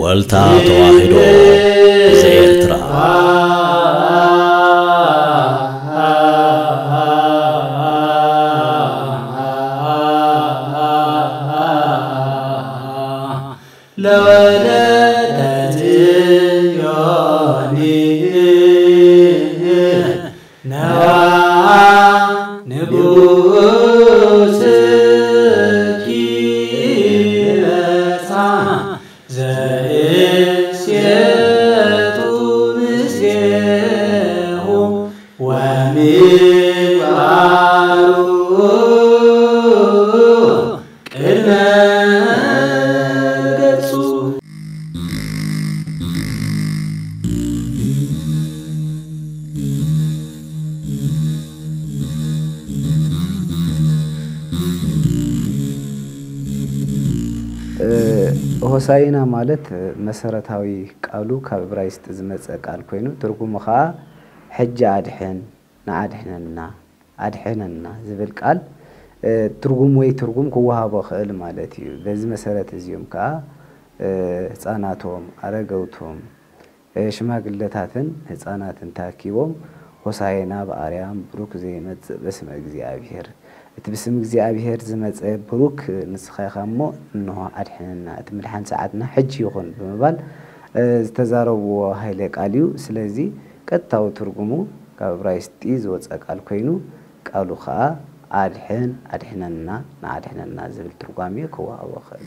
ዋልታ ተዋሕዶ ዘኤርትራ። ለወለተ ጽዮን ነዋ ንጉስኪ መጻ ዘእሴቱ ምስሌሁ ወምግባሩ ቅድመ ገጹ። ሆሳይና ማለት መሰረታዊ ቃሉ ካብ እብራይስጥ ዝመጸ ቃል ኮይኑ፣ ትርጉሙ ኸኣ ሕጂ ኣድሕን፣ ንኣድሕነና፣ ኣድሕነና ዝብል ቃል ትርጉም ወይ ትርጉም ክወሃቦ ክእል ማለት እዩ። በዚ መሰረት እዚኦም ከኣ ህፃናቶም፣ ኣረገውቶም፣ ሽማግለታትን ህፃናትን ተኣኪቦም ሆሳዕና ብኣርያም ብሩክ ዘይመጽእ በስመ እግዚኣብሔር፣ እቲ ብስም እግዚኣብሔር ዝመጸ ብሩክ ንስኻ ኢኻ እሞ እንሆ ኣድሕነና፣ እቲ ምድሓን ሰዓትና ሕጂ ይኹን ብምባል ዝተዛረብዎ ኃይለ ቃል እዩ። ስለዚ ቀጥታዊ ትርጉሙ ካብ እብራይስጢ ዝወጸ ቃል ኮይኑ፣ ቃሉ ኸኣ ኣድሕን፣ ኣድሕነና፣ ንኣድሕነና ዝብል ትርጓሜ ክወሃቦ ኽእል።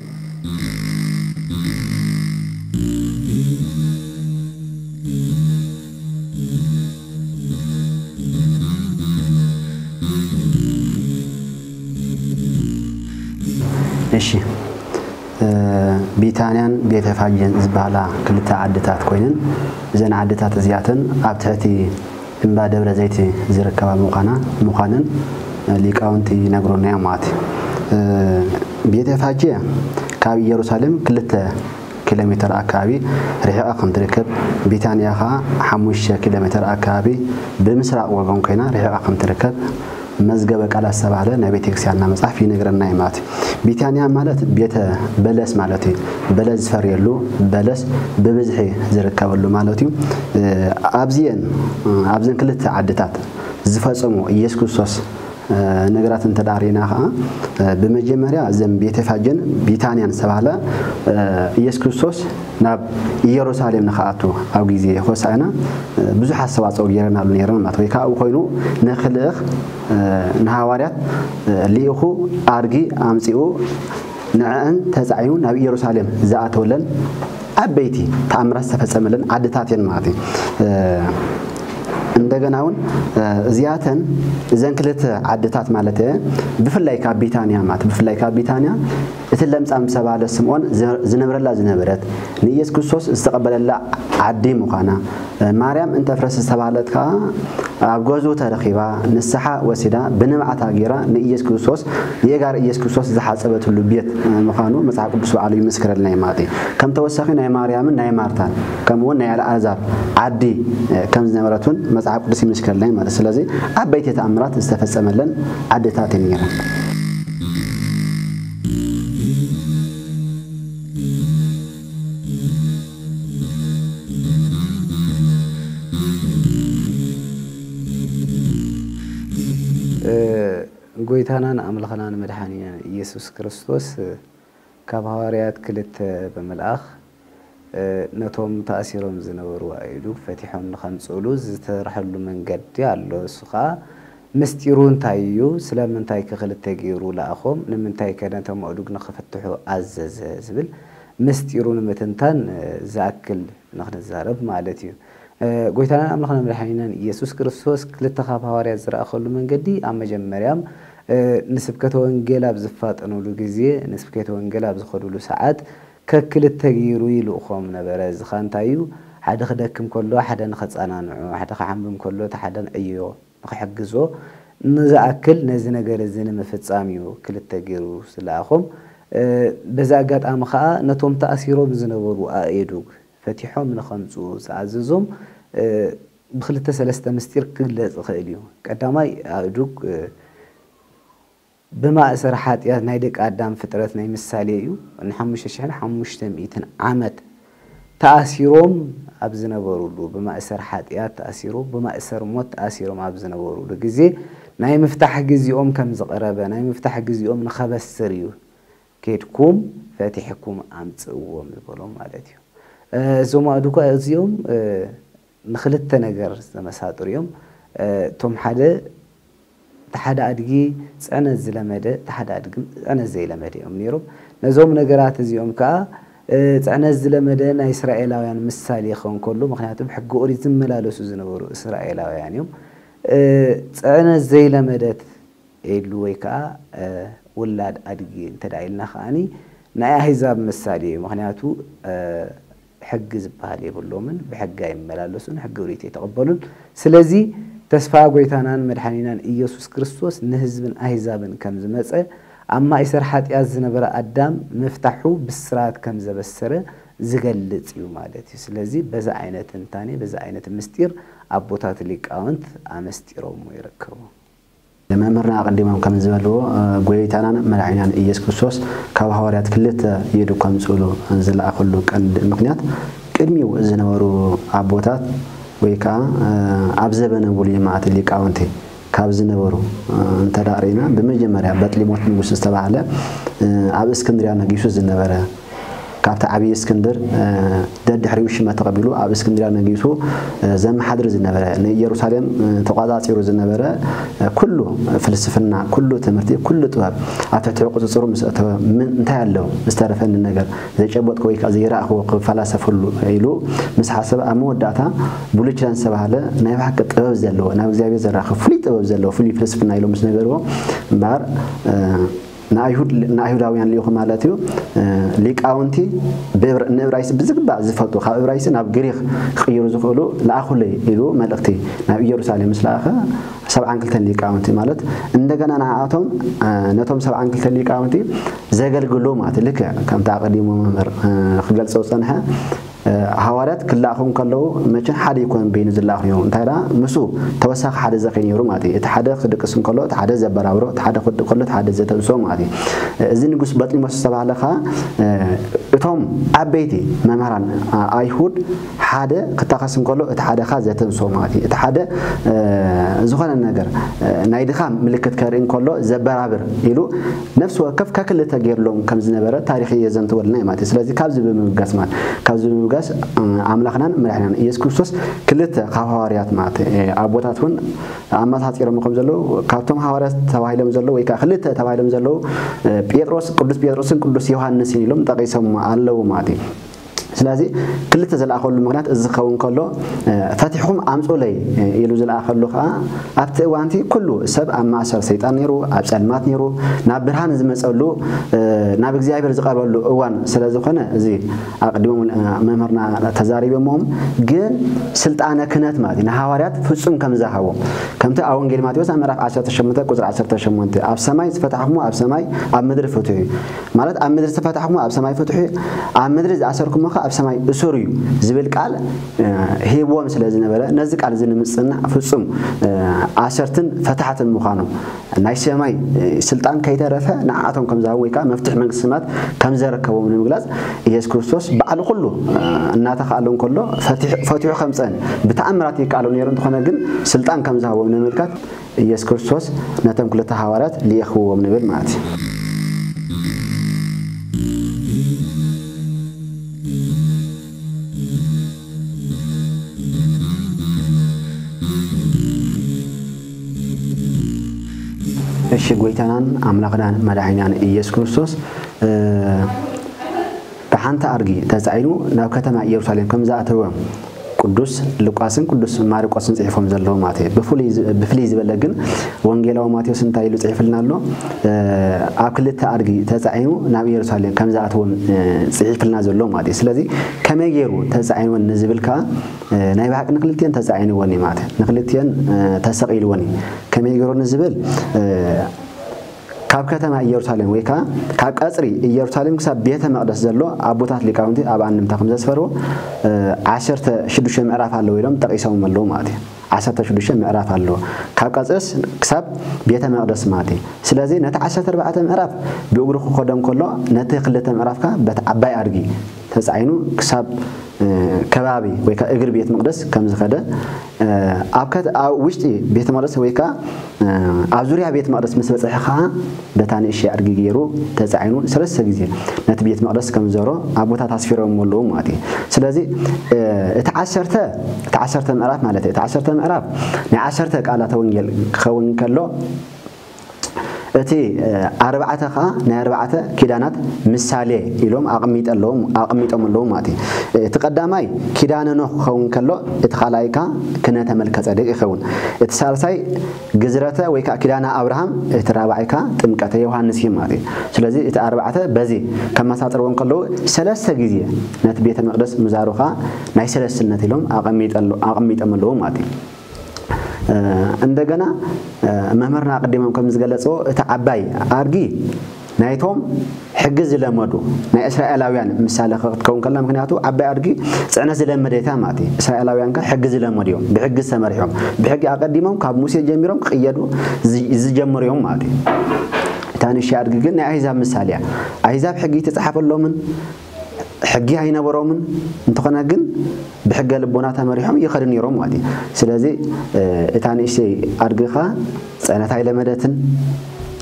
እሺ፣ ቢታንያን ቤተ ፋጌን ዝበሃላ ክልተ ዓድታት ኮይነን፣ እዘን ዓድታት እዚኣተን ኣብ ትሕቲ እምባ ደብረ ዘይት ዝርከባ ምዃና፣ ምዃነን ሊቃውንቲ ይነግሩና እዮም ማለት እዩ። ቤተ ፋጌ ካብ ኢየሩሳሌም ክልተ ኪሎ ሜትር ኣከባቢ ርሒቓ ከም ትርከብ፣ ቢታንያ ኸኣ ሓሙሽተ ኪሎ ሜትር ኣከባቢ ብምስራቕ ወገን ኮይና ርሒቓ ከም ትርከብ መዝገበ ቃላት ዝተባህለ ናይ ቤተክርስትያንና መጽሓፍ ይነግረና እዩ ማለት እዩ። ቢታንያ ማለት ቤተ በለስ ማለት እዩ። በለስ ዝፈርየሉ፣ በለስ ብብዝሒ ዝርከበሉ ማለት እዩ። ኣብዚአን፣ ኣብዘን ክልተ ዓድታት ዝፈጸሙ ኢየሱስ ክርስቶስ ነገራት እንተ ደኣ ርኢና ኸዓ፣ ብመጀመርያ እዘን ቤተፋጌን ቢታንያን ዝተባህለ ኢየሱስ ክርስቶስ ናብ ኢየሩሳሌም ንኽኣቱ ኣብ ግዜ ሆሳዕና ብዙሕ ኣስተዋጽኦ ገይረናሉ ነይረን ማለት ወይ ከዓ ኣብኡ ኮይኑ ንኽልእኽ ንሃዋርያት ልኢኹ ኣድጊ ኣምጺኡ ንዕአን ተጻዒኑ ናብ ኢየሩሳሌም ዝኣተወለን ዓበይቲ ተኣምራት ዝተፈጸመለን ዓድታት እየን ማለት እዩ። እንደገና እውን እዚኣተን እዘን ክልተ ዓድታት ማለት እየ ብፍላይ ካብ ቢታንያ ማለት ብፍላይ ካብ ቢታንያ እቲ ለምጻም ዝተባህለ ስምዖን ዝነብረላ ዝነበረት ንኢየሱስ ክርስቶስ ዝተቐበለላ ዓዲ ምዃና ማርያም እንተፍረስ ዝተባህለት ከኣ ኣብ ገዝኡ ተረኺባ ንስሓ ወሲዳ ብንብዓታ ገይራ ንኢየሱስ ክርስቶስ የእጋር ኢየሱስ ክርስቶስ ዝሓጸበትሉ ቤት ምዃኑ መጽሓፍ ቅዱስ ባዕሉ ይምስክረልና እዩ ማለት እዩ። ከም ተወሳኺ ናይ ማርያምን ናይ ማርታን ከምኡ እውን ናይ ኣልኣዛር ዓዲ ከም ዝነበረት እውን መጽሓፍ ቅዱስ ይምስክረልና እዩ ማለት እዩ። ስለዚ ዓበይቲ ተኣምራት ዝተፈጸመለን ዓድታት እየን ነይረን። ጎይታናን ኣምላኽናን መድሓኒናን ኢየሱስ ክርስቶስ ካብ ሃዋርያት ክልተ ብምልኣኽ ነቶም ተኣሲሮም ዝነበሩ ኣእዱግ ፈቲሖም ንኸምጽእሉ ዝተሰርሐሉ መንገዲ ኣሎ። እሱ ኸኣ ምስጢሩ እንታይ እዩ? ስለምንታይ ከ ክልተ ገይሩ ለኣኾም? ንምንታይ ከ ነቶም ኣእዱግ ንኽፍትሑ ኣዘዘ? ዝብል ምስጢሩ ንምትንታን ዝኣክል ንኽንዛረብ ማለት እዩ። ጎይታናን ኣምላኽና መድሓኒናን ኢየሱስ ክርስቶስ ክልተ ካብ ሃዋርያት ዝረኣኸሉ መንገዲ ኣብ መጀመርያም ንስብከተ ወንጌል ኣብ ዝፋጠኑሉ ግዜ ንስብከተ ወንጌል ኣብ ዝኸዱሉ ሰዓት ከክልተ ገይሩ ይልእኾም ነበረ። እዚ ኸኣ እንታይ እዩ? ሓደ ክደክም ከሎ ሓደ ንኸጸናንዖ፣ ሓደ ክሓምም ከሎ እቲ ሓደ ንዕዮ ንኽሕግዞ ንዝኣክል ነዚ ነገር እዚ ንምፍጻም እዩ ክልተ ገይሩ ዝለኣኾም። በዚ ኣጋጣሚ ኸኣ ነቶም ተኣሲሮም ዝነበሩ ኣእዱግ ፈቲሖም ንኸምጽኡ ዝኣዘዞም ብክልተ ሰለስተ ምስጢር ክግለጽ ይኽእል እዩ። ቀዳማይ ኣእዱግ ብማእሰር ሓጢኣት ናይ ደቂ ኣዳም ፍጥረት ናይ ምሳሌ እዩ። ንሓሙሽተ ሽሕን ሓሙሽተ ሚእትን ዓመት ተኣሲሮም ኣብ ዝነበሩሉ፣ ብማእሰር ሓጢኣት ተኣሲሮም፣ ብማእሰር ሞት ተኣሲሮም ኣብ ዝነበሩሉ ግዜ ናይ ምፍታሕ ግዜኦም ከም ዝቐረበ፣ ናይ ምፍታሕ ግዜኦም ንኸበስር እዩ። ኬድኩም ፈቲሕኩም ኣምጽእዎም ዝበሎም ማለት እዩ። እዞም ኣእዱኳ እዚኦም ንክልተ ነገር ዝተመሳጠሩ እዮም። እቶም ሓደ፣ እቲ ሓደ ኣድጊ ጽዕነት ዝለመደ፣ እቲ ሓደ ኣድጊ ጽዕነት ዘይለመደ እዮም ነይሮም። ነዞም ነገራት እዚኦም ከኣ ጽዕነት ዝለመደ ናይ እስራኤላውያን ምሳሌ ክኸውን ከሎ፣ ምክንያቱ ብሕጊ ኦሪት ዝመላለሱ ዝነበሩ እስራኤላውያን እዮም። ጽዕነት ዘይለመደት ዒሉ ወይ ከኣ ውላድ ኣድጊ እንተ ኢልና ከኣ ናይ ኣህዛብ ምሳሌ እዩ። ምክንያቱ ሕጊ ዝበሃል የብሎምን፣ ብሕጊ ኣይመላለሱን፣ ሕጊ ኦሪት ኣይተቐበሉን። ስለዚ ተስፋ ጎይታናን መድሓኒናን ኢየሱስ ክርስቶስ ንህዝብን ኣህዛብን ከም ዝመጸ፣ ኣብ ማእሰር ሓጢኣት ዝነበረ ኣዳም ምፍታሑ ብስራት ከም ዘበሰረ ዝገልጽ እዩ ማለት እዩ። ስለዚ በዚ ዓይነት ትንታኔ፣ በዚ ዓይነት ምስጢር ኣቦታት ሊቃውንት ኣመስጢሮሞ ይርከቡ። መምህርና ኣቐዲሞም ከም ዝበልዎ፣ ጎይታናን መድሓኒናን ኢየሱስ ክርስቶስ ካብ ሃዋርያት ክልተ ኢዱ ከምጽእሉ ዝለኣኸሉ ቀንዲ ምክንያት፣ ቅድሚኡ ዝነበሩ ኣቦታት ወይ ከኣ ኣብ ዘበነ ብሉይ ማለት ሊቃውንቲ ካብ ዝነበሩ እንተ ደኣ ርኢና፣ ብመጀመርያ በጥሊሞስ ንጉስ ዝተባህለ ኣብ እስክንድርያ ነጊሱ ዝነበረ፣ ካብቲ ዓብዪ እስክንድር ደድሕሪኡ ሽመት ተቐቢሉ ኣብ እስክንድርያ ነጊሱ ዘመሓድር ዝነበረ፣ ንኢየሩሳሌም ተቋጻጺሩ ዝነበረ፣ ኩሉ ፍልስፍና፣ ኩሉ ትምህርቲ፣ ኩሉ ጥበብ ኣብ ትሕቲ ቁጽጽሩ ምስ ኣተወ፣ ምን እንታይ ኣሎ ዝተረፈኒ ነገር፣ ዘይጨበጥኩ ወይ ከኣ ዘይረኣኽዎ ክፈላሰፈሉ ኢሉ ምስ ሓሰበ፣ ኣብ መወዳእታ ብሉይ ኪዳን ዝተባህለ ናይ ብሓቂ ጥበብ ዘለዎ፣ ናብ እግዚኣብሔር ዘራኽብ ፍሉይ ጥበብ ዘለዎ፣ ፍሉይ ፍልስፍና ኢሎም ምስ ነገርዎ፣ እምበኣር ንኣይሁድ ንኣይሁዳውያን ልኢኹ ማለት እዩ። ሊቃውንቲ ንእብራይስ ብዝግባእ ዝፈልጡ፣ ካብ እብራይስ ናብ ግሪኽ ክቕይሩ ዝኽእሉ ለኣኹለይ ኢሉ መልእኽቲ ናብ ኢየሩሳሌም ምስ ለኣኸ፣ ሰብዓን ክልተን ሊቃውንቲ ማለት እንደገና ንኣቶም፣ ነቶም ሰብዓን ክልተን ሊቃውንቲ ዘገልግሉ ማለት እዩ። ልክዕ ከምቲ ኣቐዲሙ መምህር ክገልጾ ዝጸንሐ፣ ሃዋርያት ክለኣኹ እንከለዉ መቸም ሓደ ኣይኮነን በይኑ ዝለኣኹ ነይሩ። እንታይ ደኣ፣ ምስኡ ተወሳኺ ሓደ ዘኺ ነይሩ ማለት እዩ። እቲ ሓደ ክድቅስ እንከሎ እቲ ሓደ ዘበራብሮ፣ እቲ ሓደ ክወድእ ከሎ እቲ ሓደ ዘተንስኦ ማለት እዩ። እዚ ንጉስ በጥሊሞስ ዝተባህለ ኸኣ፣ እቶም ዓበይቲ መምህራን ኣይሁድ ሓደ ክታኸስ እንከሎ እቲ ሓደ ኸኣ ዘተንስኦ ማለት እዩ። እቲ ሓደ ዝኾነ ነገር ናይ ድኻም ምልክት ከርኢ እንከሎ ዘበራብር ኢሉ ነፍሲ ወከፍ ከክልተ ገይርሎም ከም ዝነበረ ታሪኽ የዘንትወልና እዩ ማለት እዩ። ስለዚ ካብዚ ብምብጋስ ማለት፣ ካብዚ ብምብጋስ ኣምላኽናን መድሓኒናን ኢየሱስ ክርስቶስ ክልተ ካብ ሃዋርያት ማለት ኣቦታት እውን ኣመሳሲሮም ከም ዘለዉ፣ ካብቶም ሃዋርያት ተባሂሎም ዘለዉ ወይ ከኣ ክልተ ተባሂሎም ዘለዉ ጴጥሮስ፣ ቅዱስ ጴጥሮስን ቅዱስ ዮሃንስን ኢሎም ጠቒሶም ኣለዉ ማለት እዩ። ስለዚ ክልተ ዝለኣኸሉ ምኽንያት እዚ ክኸውን ከሎ፣ ፈቲሕኩም ኣምጹለይ ኢሉ ዝለኣኸሉ ከኣ ኣብቲ እዋንቲ ኩሉ ሰብ ኣብ ማእሰር ሰይጣን ነይሩ፣ ኣብ ጸልማት ነይሩ፣ ናብ ብርሃን ዝመጸሉ፣ ናብ እግዚኣብሔር ዝቐርበሉ እዋን ስለ ዝኾነ፣ እዚ ኣቐዲሞም መምህርና ተዛሪቦምዎም፣ ግን ስልጣነ ክህነት ማለት እዩ ንሃዋርያት ፍጹም ከም ዝሃቦም፣ ከምቲ ኣብ ወንጌል ማቴዎስ ኣብ ምዕራፍ ዓሰርተ ሸሞንተ ቁጽሪ ዓሰርተ ሸሞንተ፣ ኣብ ሰማይ ዝፈታሕኩሞ ኣብ ሰማይ ኣብ ምድሪ ፍትሑ እዩ። ማለት ኣብ ምድሪ ዝፈታሕኩሞ ኣብ ሰማይ ፍትሑ እዩ፣ ኣብ ምድሪ ዝኣሰርኩሞ ከ ኣብ ሰማይ እሱር እዩ ዝብል ቃል ሂብዎም ስለ ዝነበረ፣ ነዚ ቃል እዚ ንምጽናዕ ፍጹም ኣሰርትን ፈታሕትን ምዃኖም፣ ናይ ሰማይ ስልጣን ከይተረፈ ንዓኣቶም ከም ዝሃቦም ወይ ከኣ መፍትሒ መንግስቲ ሰማያት ከም ዘረከቦም ንምግላጽ፣ ኢየሱስ ክርስቶስ ባዕሉ ኩሉ እናተኻእሎ እንከሎ ፈቲሑ፣ ፈቲሑ ከምጸን ብተኣምራት ይከኣሎ ነይሩ እንተኾነ ግን ስልጣን ከም ዝሃቦም ንምልካት ኢየሱስ ክርስቶስ ነቶም ክልተ ሃዋርያት ልኢኽዎም ንብል ማለት እዩ። እሺ፣ ጎይታናን ኣምላኽናን መድሓኒናን ኢየሱስ ክርስቶስ፣ እ፣ ብሓንቲ ኣድጊ ተጻዒኑ ናብ ከተማ ኢየሩሳሌም ከም ዝኣተወ ቅዱስ ሉቃስን ቅዱስ ማርቆስን ጽሒፎም ዘለዉ ማለት እዩ። ብፍሉይ ዝ-፣ ብፍልይ ዝበለ ግን ወንጌላዊ ማቴዎስ እንታይ ኢሉ ጽሒፍልና ኣሎ? እ፣ ኣብ ክልተ ኣድጊ ተጻዒኑ ናብ ኢየሩሳሌም ከም ዝኣተወን፣ እ፣ ጽሒፍልና ዘሎ ማለት እዩ። ስለዚ ከመይ ገይሩ ተጻዒንወን ንዝብል ከኣ፣ እ፣ ናይ ብሓቂ ንክልቲኤን ተጻዒንወን እዩ ማለት እዩ። ንክልቲኤን፣ እ፣ ተሰቒልወን እዩ። ከመይ ገይሩ ንዝብል፣ እ፣ ካብ ከተማ ኢየሩሳሌም ወይ ከኣ ካብ ቀጽሪ ኢየሩሳሌም ክሳብ ቤተ መቕደስ ዘሎ ኣቦታት ሊቃውንቲ ኣብ ኣንድምታ ከም ዘስፈርዎ፣ እ፣ ዓሰርተ ሽዱሽተ ምዕራፍ ኣለዎ ኢሎም ጠቒሶም ኣለዉ ማለት እዩ። ዓሰርተ ሽዱሽተ ምዕራፍ ኣለዎ። ካብ ቀጽርስ ክሳብ ቤተ መቕደስ ማለት እዩ። ስለዚ ነቲ ዓሰርተ ኣርባዕተ ምዕራፍ ብእግሩ ክኸዶ እንከሎ፣ ነቲ ክልተ ምዕራፍካ በቲ ዓባይ ኣድጊ ተጻዒኑ ክሳብ፣ እ፣ ከባቢ ወይ ከኣ እግሪ ቤት መቕደስ ከም ዝኸደ፣ እ፣ ኣብ ከት-፣ ኣብ ውሽጢ ቤት መቕደስ ወይ ከኣ፣ እ፣ ኣብ ዙርያ ቤት መቕደስ ምስ በጽሐ ከኣ በታ ንእሽተይ ኣድጊ ገይሩ ተጻዒኑ ሰለስተ ግዜ ነቲ ቤት መቕደስ ከም ዝዞሮ ኣቦታት ኣስፊሮም ኣለዉ ማለት እዩ። ስለዚ፣ እ፣ እቲ ዓሰርተ፣ እቲ ዓሰርተ ምዕራፍ ማለት እዩ። እቲ ዓሰርተ ምዕራፍ ናይ ዓሰርተ ቃላተ ወንጌል ክኸውን ከሎ፣ እቲ፣ እ፣ ኣርባዕተ ኸኣ ናይ ኣርባዕተ ኪዳናት ምሳሌ ኢሎም ኣቐሚጠ ኣለዎም-፣ ኣቐሚጦም ኣለዉ ማለት እዩ። እቲ ቀዳማይ ኪዳነ ኖህ ክኸውን ከሎ፣ እቲ ካልኣይ ከኣ ክነተ መልከ ጸዴቅ ይኸውን። እቲ ሳልሳይ ግዝረተ ወይ ከኣ ኪዳነ ኣብርሃም፣ እቲ ራብዓይ ከኣ ጥምቀተ ዮሃንስ እዩ ማለት እዩ። ስለዚ እቲ ኣርባዕተ በዚ ከመሳጥርዎም ከለዉ፣ ሰለስተ ግዜ ነቲ ቤተ መቕደስ ምዛሩ ኸኣ ናይ ሰለስትነት ኢሎም ኣቐሚጠ-፣ ኣቐሚጦም ኣለዉ ማለት እዩ። እ፣ እንደገና፣ እ፣ መምህርና ኣቐዲሞም ከም ዝገለጽዎ፣ እቲ ዓባይ ኣድጊ ናይቶም ሕጊ ዝለመዱ ናይ እስራኤላውያን ምሳሌ ክትከውን ከላ፣ ምኽንያቱ ዓባይ ኣድጊ ጽዕነት ዝለመደታ ማለት እዩ። እስራኤላውያን ከ ሕጊ ዝለመዱ እዮም፣ ብሕጊ ዝተመርሑ እዮም። ብሕጊ ኣቐዲሞም ካብ ሙሴ ጀሚሮም ክቕየዱ ዝ-፣ ዝጀመሩ እዮም ማለት እዩ። እታ ንእሽተይ ኣድጊ ግን ናይ ኣህዛብ ምሳሌ እያ። ኣህዛብ ሕጊ ኣይተጻሕፈሎምን፣ ሕጊ ኣይነበሮምን፣ እንተኾነ ግን ብሕገ ልቦና ተመሪሖም ይኸዱ ነይሮም ማለት እዩ። ስለዚ፣ እ፣ እታ ንእሽተይ ኣድጊ ኸኣ ጽዕነት ኣይለመደትን፣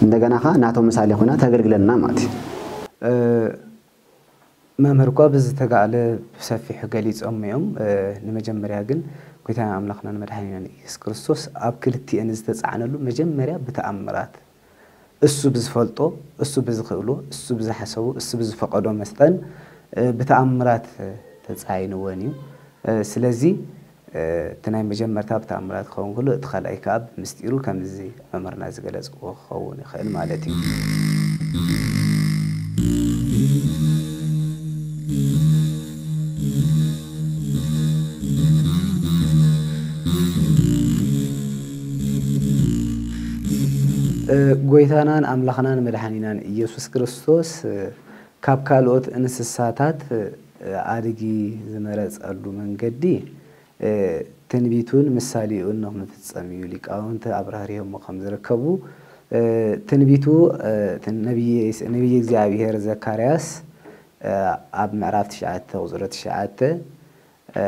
እንደገና ኸኣ ናቶም ምሳሌ ኮይና ተገልግለና ማለት እዩ። እ፣ መምህር እኳ ብዝተጋእለ ብሰፊሑ ገሊጾም እዮም። እ፣ ንመጀመርያ ግን ጎይታና ኣምላኽናን መድሓኒናን ኢየሱስ ክርስቶስ ኣብ ክልቲኤን ዝተጻዕነሉ መጀመርያ ብተኣምራት እሱ ብዝፈልጦ፣ እሱ ብዝኽእሎ፣ እሱ ብዝሓሰቦ፣ እሱ ብዝፈቐዶ መጠን፣ እ፣ ብተኣምራት፣ እ፣ ተጻይንወን እዩ። እ፣ ስለዚ፣ እ፣ እቲ ናይ መጀመርታ ብተኣምራት ክኸውን ከሎ፣ እቲ ካልኣይ ከኣ ብምስጢሩ ከምዚ መምህርና ዝገለጽዎ ክኸውን ይኽእል ማለት እዩ። እ፣ ጎይታናን ኣምላኽናን መድሓኒናን ኢየሱስ ክርስቶስ፣ እ፣ ካብ ካልኦት እንስሳታት፣ እ፣ ኣድጊ ዝመረጸሉ መንገዲ፣ እ፣ ትንቢቱን ምሳሌኡን ንኽምፍጸም እዩ። ሊቃውንቲ ኣብራህሪሆሞ ከም ዝርከቡ፣ እ፣ ትንቢቱ፣ እ፣ እቲ ነቢየ፣ ነቢየ እግዚኣብሔር ዘካርያስ፣ እ፣ ኣብ ምዕራፍ ትሽዓተ ቁጽሪ ትሽዓተ፣ እ፣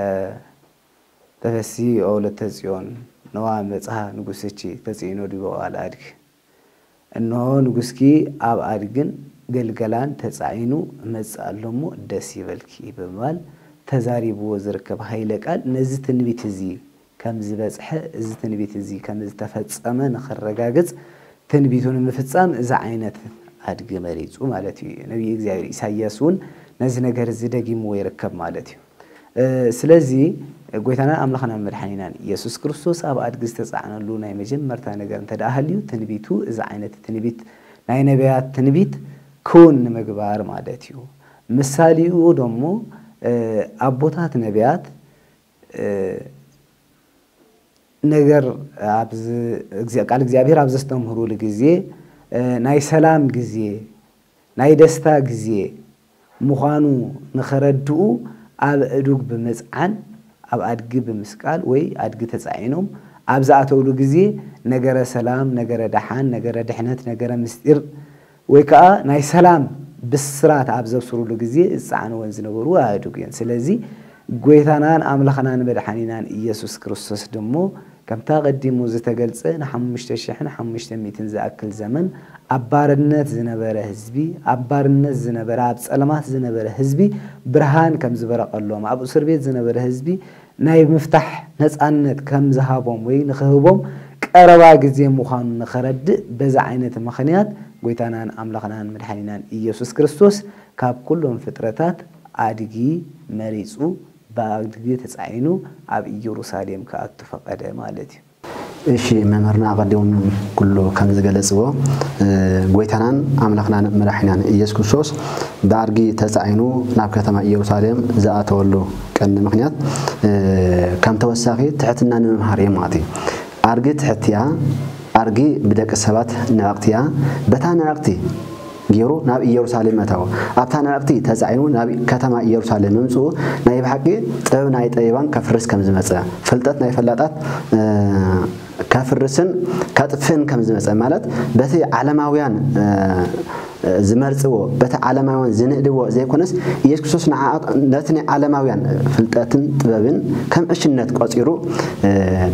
ተፈሲ ኦ ወለተ ጽዮን፣ ነዋ መጽሃ ንጉስኪ ተጽዒኖ ዲበ ኣልኣድግ። እንሆ ንጉስኪ ኣብ ኣድግን ገልገላን ተጻዒኑ እመጽእ ኣሎ እሞ ደስ ይበልኪ ብምባል ተዛሪብዎ ዝርከብ ኃይለ ቃል ነዚ ትንቢት እዚ ከም ዝበጽሐ፣ እዚ ትንቢት እዚ ከም ዝተፈጸመ ንኸረጋግጽ ትንቢቱ ንምፍጻም እዚ ዓይነት ኣድጊ መሪጹ ማለት እዩ። ነቢይ እግዚኣብሔር ኢሳይያስ እውን ነዚ ነገር እዚ ደጊምዎ ይርከብ ማለት እዩ። እ፣ ስለዚ ጎይታናን ኣምላኽናን መድሓኒናን ኢየሱስ ክርስቶስ ኣብ ኣድጊ ዝተጻዕነሉ ናይ መጀመርታ ነገር እንተ ደኣ ሃልዩ፣ ትንቢቱ እዚ ዓይነት ትንቢት ናይ ነቢያት ትንቢት ክውን ንምግባር ማለት እዩ። ምሳሌኡ ደሞ፣ እ፣ ኣቦታት ነቢያት፣ እ፣ ነገር ኣብ ዝ-፣ እግዚኣብ-፣ ቃል እግዚኣብሔር ኣብ ዘስተምህሩሉ ግዜ፣ እ፣ ናይ ሰላም ግዜ፣ ናይ ደስታ ግዜ ምዃኑ ንኸረድኡ ኣብ እዱግ ብምጽዓን፣ ኣብ ኣድጊ ብምስቃል ወይ ኣድጊ ተጻዒኖም ኣብ ዝኣተውሉ ግዜ ነገረ ሰላም፣ ነገረ ደሓን፣ ነገረ ድሕነት፣ ነገረ ምስጢር ወይ ከኣ ናይ ሰላም ብስራት ኣብ ዘብስሩሉ ግዜ ዝጸዓንወን ዝነበሩ ኣእዱግ እየን። ስለዚ ጎይታናን ኣምላኽናን መድሓኒናን ኢየሱስ ክርስቶስ ድሞ ከምቲ ኣቐዲሙ ዝተገልጸ ንሓሙሽተ ሽሕን ሓሙሽተ ሚእትን ዝኣክል ዘመን ኣብ ባርነት ዝነበረ ህዝቢ፣ ኣብ ባርነት ዝነበረ፣ ኣብ ጸልማት ዝነበረ ህዝቢ ብርሃን ከም ዝበረቐሎም፣ ኣብ እስር ቤት ዝነበረ ህዝቢ ናይ ምፍታሕ ነጻነት ከም ዝሃቦም ወይ ንኽህቦም ቀረባ ግዜ ምዃኑ ንኸረድእ በዚ ዓይነት ምኽንያት ጎይታናን ኣምላኽናን መድሓኒናን ኢየሱስ ክርስቶስ ካብ ኩሎም ፍጥረታት ኣድጊ መሪጹ ብኣድጊ ተጻዒኑ ኣብ ኢየሩሳሌም ክኣቱ ፈቐደ ማለት እዩ። እሺ፣ መምህርና ኣቐዲሞም ኩሉ ከም ዝገለጽዎ፣ እ፣ ጎይታናን ኣምላኽናን መድሓኒናን ኢየሱስ ክርስቶስ ብኣድጊ ተጻዒኑ ናብ ከተማ ኢየሩሳሌም ዝኣተወሉ ቀንዲ ምኽንያት፣ እ፣ ከም ተወሳኺ ትሕትና ንምምሃር እዩ ማለት እዩ። ኣድጊ ትሕቲ እያ፣ ኣድጊ ብደቂ ሰባት ንዕቕቲ እያ። በታ ንዕቕቲ ገይሩ ናብ ኢየሩሳሌም ኣተወ። ኣብታ ንዕቕቲ ተጻዒኑ ናብ ከተማ ኢየሩሳሌም ምምጽኡ ናይ ብሓቂ ጥበብ ናይ ጠቢባን ከፍርስ ከም ዝመጸ፣ ፍልጠት ናይ ፈላጣት፣ እ፣ ከፍርስን ከጥፍእን ከም ዝመጸ፣ ማለት በቲ ዓለማውያን፣ እ፣ ዝመርጽዎ፣ በቲ ዓለማውያን ዝንእድዎ ዘይኮነስ፣ ኢየሱስ ክርስቶስ ንዓኣ-፣ ነቲ ናይ ዓለማውያን ፍልጠትን ጥበብን ከም ዕሽነት ቆጺሩ፣ እ፣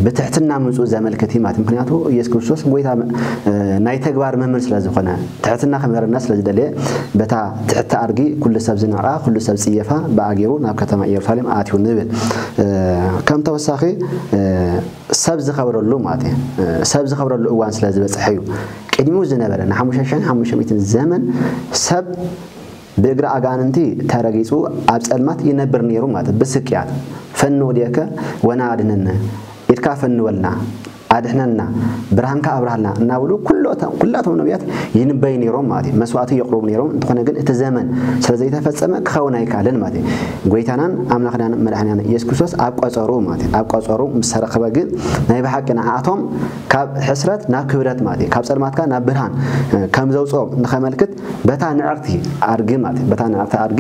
ብትሕትና ምምጽኡ ዘመልክት እዩ ማለት እዩ። ምኽንያቱ ኢየሱስ ክርስቶስ ጎይታ፣ እ፣ ናይ ተግባር መምህር ስለ ዝኾነ፣ ትሕትና ክምህረና ስለ ዝደለየ፣ በታ ትሕቲ ኣድጊ ኩሉ ሰብ ዝንዕቓ፣ ኩሉ ሰብ ዝጽየፋ ብኣ ገይሩ ናብ ከተማ ኢየሩሳሌም ኣትዩ ንብል። እ፣ ከም ተወሳኺ፣ እ፣ ሰብ ዝኸብረሉ ማለት እዩ። እ፣ ሰብ ዝኸብረሉ እዋን ስለ ዝበጽሐ እዩ። ቅድሚኡ ዝነበረ ንሓሙሽተ ሽሕን ሓሙሽተ ሚእትን ዘመን ሰብ ብእግሪ ኣጋንንቲ ተረጊጹ ኣብ ጸልማት ይነብር ነይሩ ማለት እዩ። ብስቅያት፣ "ፈኑ እዴከ ወና ኣድነነ፣ ኢድካ ፈንወልና፣ ኣድሕነና፣ ብርሃንካ ኣብርሃልና" እናበሉ ኩሎታ-፣ ኩላቶም ነቢያት ይንበዩ ነይሮም ማለት እዩ። መስዋዕቲ የቕርቡ ነይሮም። እንተኾነ ግን እቲ ዘመን ስለ ዘይተፈጸመ ክኸውን ኣይከኣለን ማለት እዩ። ጎይታናን ኣምላኽናን መድሓኒናን ኢየሱስ ክርስቶስ ኣብ ቀጸሩ ማለት እዩ። ኣብ ቀጸሩ ምስ ተረኸበ ግን ናይ ብሓቂ ንዓኣቶም ካብ ሕስረት ናብ ክብረት ማለት እዩ፣ ካብ ጸልማትካ ናብ ብርሃን፣ እ፣ ከም ዘውጽኦም ንኸመልክት በታ ንዕቕቲ ኣድጊ ማለት እዩ፣ በታ ንዕቕቲ ኣድጊ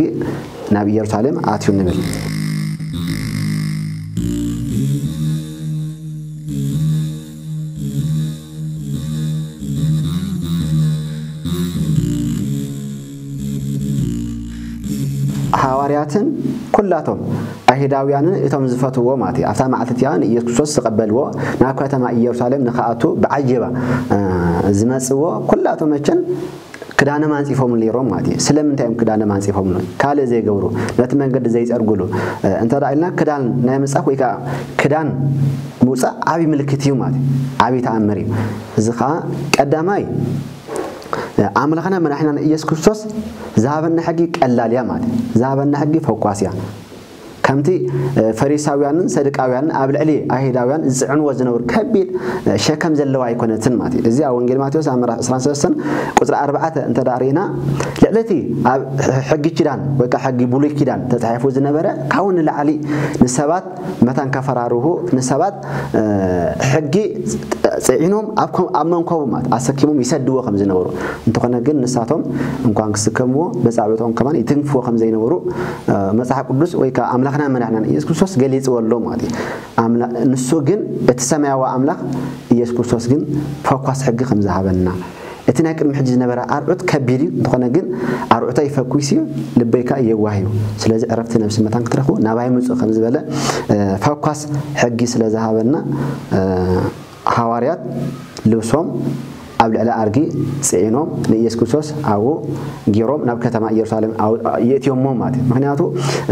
ናብ ኢየሩሳሌም ኣትዩ ንብል። ሃዋርያትን ኩላቶም ኣይሁዳውያንን እቶም ዝፈትውዎ ማለት እዩ፣ ኣብታ መዓልቲ እቲኣ ንኢየሱስ ክርስቶስ ዝቐበልዎ ናብ ከተማ ኢየሩሳሌም ንኽኣቱ ብዓጀባ፣ እ፣ ዝመጽዎ ኩላቶም መቸን ክዳኖም ኣንጺፎምሉ ነይሮም ማለት እዩ። ስለምንታይ እዮም ክዳኖም ኣንጺፎምሉ? ካልእ ዘይገብሩ፣ ነቲ መንገዲ ዘይጸርግሉ፣ እ፣ እንተ ደኣ ኢልና ክዳን ናይ ምንጻፍ ወይ ከኣ ክዳን ምውጻእ ዓቢ ምልክት እዩ ማለት እዩ። ዓቢ ተኣምር እዩ። እዚ ከኣ ቀዳማይ፣ እ፣ ኣምላኽና መድሓኒናን ኢየሱስ ክርስቶስ ዝሃበና ሕጊ ቀላል እያ ማለት እዩ። ዝሃበና ሕጊ ፈኳስ እያ። ከምቲ፣ እ፣ ፈሪሳውያንን ሰዱቃውያንን ኣብ ልዕሊ ኣይሁዳውያን ዝጽዕንዎ ዝነበሩ ከቢድ፣ እ፣ ሸከም ዘለዋ ኣይኮነትን ማለት እዩ። እዚ ኣብ ወንጌል ማቴዎስ ኣብ ምዕራፍ ዕስራን ሰለስተን ቁጽሪ ኣርባዕተ እንተ ደኣ ርኢና፣ ልዕሊ እቲ ኣብ ሕጊ ኪዳን ወይ ከኣ ሕጊ ብሉይ ኪዳን ተጻሒፉ ዝነበረ ካብኡ ንላዕሊ ንሰባት መታን ከፈራርሁ፣ ንሰባት፣ እ፣ ሕጊ ጽዒኖም ኣብ ኮ-፣ ኣብ መንኮቦም ማለት ኣሰኪሞም ይሰድዎ ከም ዝነበሩ፣ እንተኾነ ግን ንሳቶም እንኳን ክስከምዎ መጻብዕቶም ከማን ይትንክፍዎ ከም ዘይነበሩ፣ እ፣ መጽሓፍ ቅዱስ ወይ ከኣ ኣምላኽና መድሓኒናን ኢየሱስ ክርስቶስ ገሊጽዎ ኣሎ ማለት እዩ። ኣምላ-፣ ንሱ ግን እቲ ሰማያዊ ኣምላኽ ኢየሱስ ክርስቶስ ግን ፈኳስ ሕጊ ከም ዝሃበና፣ እቲ ናይ ቅድሚ ሕጂ ዝነበረ ኣርዑት ከቢድ እዩ፣ እንተኾነ ግን ኣርዑተይ ፈኲስ እዩ፣ ልበይ ከኣ የዋህ እዩ። ስለዚ ዕረፍቲ ነብሲ መታን ክትረኽቡ ናባይ ምጹ ከም ዝበለ፣ እ፣ ፈኳስ ሕጊ ስለ ዝሃበና፣ እ፣ ሃዋርያት ልብሶም ኣብ ልዕሊ ኣድጊ ጽዒኖም ንኢየሱስ ክርስቶስ ኣብኡ ገይሮም ናብ ከተማ ኢየሩሳሌም ኣው-፣ የእትዮሞ ማለት እዩ። ምኽንያቱ፣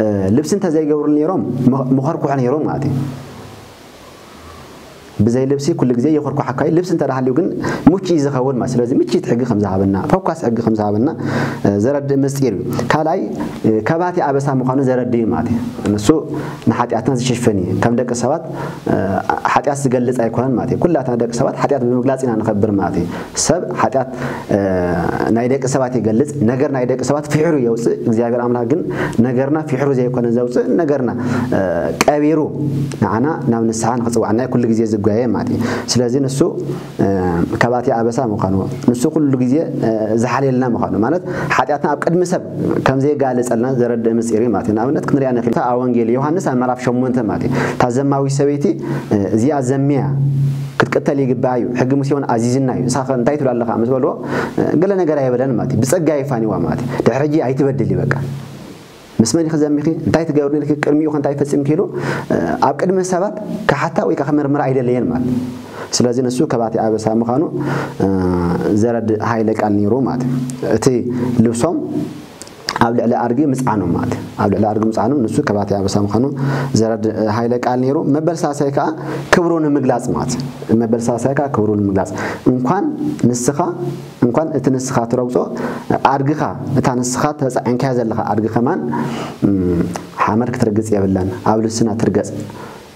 እ፣ ልብሲ እንተዘይገብሩ ነይሮም መ-፣ መኸርኩሖ ነይሮም ማለት እዩ። ብዘይ ልብሲ ኩሉ ግዜ ይኹርኳሓካ እዩ። ልብሲ እንተ ደኣ ሃልዩ ግን ምቹእ እዩ ዝኸውን ማለት። ስለዚ ምችት ሕጊ ከም ዝሃበና፣ ፈኳስ ሕጊ ከም ዝሃበና፣ እ፣ ዘረድእ ምስጢር እዩ። ካልኣይ፣ እ፣ ከባቲ ኣበሳ ምዃኑ ዘረድእ እዩ ማለት እዩ። ንሱ ንሓጢኣትና ዝሽፍን እዩ። ከም ደቂ ሰባት፣ እ፣ ሓጢኣት ዝገልጽ ኣይኮነን ማለት እዩ። ኩላትና ደቂ ሰባት ሓጢኣት ብምግላጽ ኢና ንኸብር ማለት እዩ። ሰብ ሓጢኣት፣ እ፣ ናይ ደቂ ሰባት ይገልጽ፣ ነገር ናይ ደቂ ሰባት ፍሕሩ የውጽእ። እግዚኣብሔር ኣምላኽ ግን ነገርና ፍሕሩ ዘይኮነ ዘውጽእ፣ ነገርና፣ እ፣ ቀቢሩ ንዓና ናብ ንስሓ ንኽጽውዓና እዩ ኩሉ ግዜ ዝጓየ ማለት እዩ። ስለዚ ንሱ፣ እ፣ ከባቲ ኣበሳ ምዃኑ፣ ንሱ ኩሉ ግዜ፣ እ፣ ዝሓልየልና ምዃኑ፣ ማለት ሓጢኣትና ኣብ ቅድሚ ሰብ ከም ዘየጋልጸልና ዘረድእ ምስጢር እዩ ማለት እዩ። ንኣብነት ክንሪኣ ንኽእል፣ እታ ኣብ ወንጌል ዮሃንስ ኣብ ምዕራፍ ሸሞንተ ማለት እዩ። እታ ዘማዊት ሰበይቲ፣ እ፣ እዚኣ ዘምያ ክትቅተል ይግባእ እዩ፣ ሕጊ ሙሴ እውን ኣዚዝና እዩ፣ ንስኻ ከ እንታይ ትብል ኣለኻ ምስ በልዎ፣ እ፣ ገለ ነገር ኣይበለን ማለት እዩ። ብጸጋ ይፋንዋ ማለት እዩ። ድሕሪ ሕጂ ኣይትበድል እዩ በቃ። ምስ መን ኢኺ ዘሚኺ? እንታይ ትገብሪ ኢልኪ? ቅድሚኡ ከ እንታይ ፈጺምኪ? ኢሉ፣ እ፣ ኣብ ቅድሚ ሰባት ክሓታ ወይ ከኣ ክምርምራ ኣይደለየን ማለት እዩ። ስለዚ ንሱ ከባቲ ኣበሳ ምዃኑ፣ እ፣ ዘረድእ ሃይለ ቃል ነይሩ ማለት እዩ። እቲ ልብሶም ኣብ ልዕሊ ኣድጊ ምጽዓኖም ማለት እዩ። ኣብ ልዕሊ ኣድጊ ምጽዓኖም ንሱ ከባቲ ኣበሳ ምዃኑ ዘረድእ ሃይለ ቃል ነይሩ። መበል ሳልሳይ ከኣ ክብሩ ንምግላጽ ማለት እዩ። መበል ሳልሳይ ከኣ ክብሩ ንምግላጽ። እንኳን ንስኻ፣ እንኳን እቲ ንስኻ ትረግጾ ኣድግኻ፣ እታ ንስኻ ተጻዒንካያ ዘለኻ ኣድጊ ከማን፣ እም፣ ሓመድ ክትረግጽ የብላን፣ ኣብ ልብስና ትርገጽ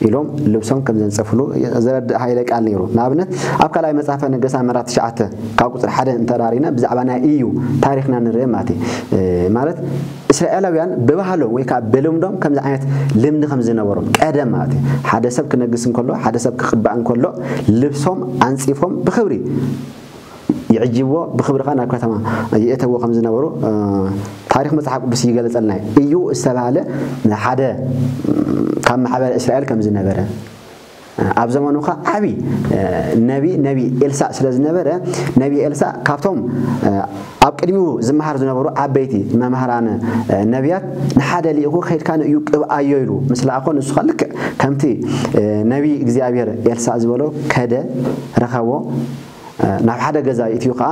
ኢሎም ልብሶም ከም ዘንጸፍሉ ዘረድእ ሃይለ ቃል ነይሩ። ንኣብነት፣ ኣብ ካልኣይ መጽሓፈ ነገስታት ምዕራፍ ትሽዓተ ካብ ቁጽሪ ሓደ እንተ ደኣ ርኢና ብዛዕባ ናይ ኢዩ ታሪኽና ንርኢ ማለት እዩ። እ፣ ማለት እስራኤላውያን ብባህሎም ወይ ከኣ ብልምዶም ከምዚ ዓይነት ልምዲ ከም ዝነበሮም ቀደም ማለት እዩ። ሓደ ሰብ ክነግስ እንከሎ፣ ሓደ ሰብ ክቕባእ እንከሎ ልብሶም ኣንጺፎም ብኽብሪ ይዕጅብዎ፣ ብኽብሪ ኸዓ ናብ ከተማ ይእተዎ ከም ዝነበሩ፣ እ፣ ታሪኽ መጽሓፍ ቅዱስ ይገልጸልና እዩ። እዩ ዝተባህለ ሓደ፣ እ፣ ካብ ማሕበረ እስራኤል ከም ዝነበረ፣ ኣብ ዘመኑ ኸዓ ዓቢ፣ እ፣ ነቢ፣ ነቢ ኤልሳዕ ስለ ዝነበረ፣ ነቢ ኤልሳዕ ካብቶም፣ እ፣ ኣብ ቅድሚኡ ዝመሃር ዝነበሩ ዓበይቲ መምህራን፣ እ፣ ነቢያት ንሓደ ልኢኹ፣ "ከይድካ ንእዩ ቅብኣዮ" ኢሉ ምስ ለኣኾ፣ ንሱ ኸዓ ልክዕ ከምቲ፣ እ፣ ነቢ እግዚኣብሔር ኤልሳዕ ዝበሎ ከደ፣ ረኸቦ፣ እ፣ ናብ ሓደ ገዛ ይእትዩ ኸዓ፣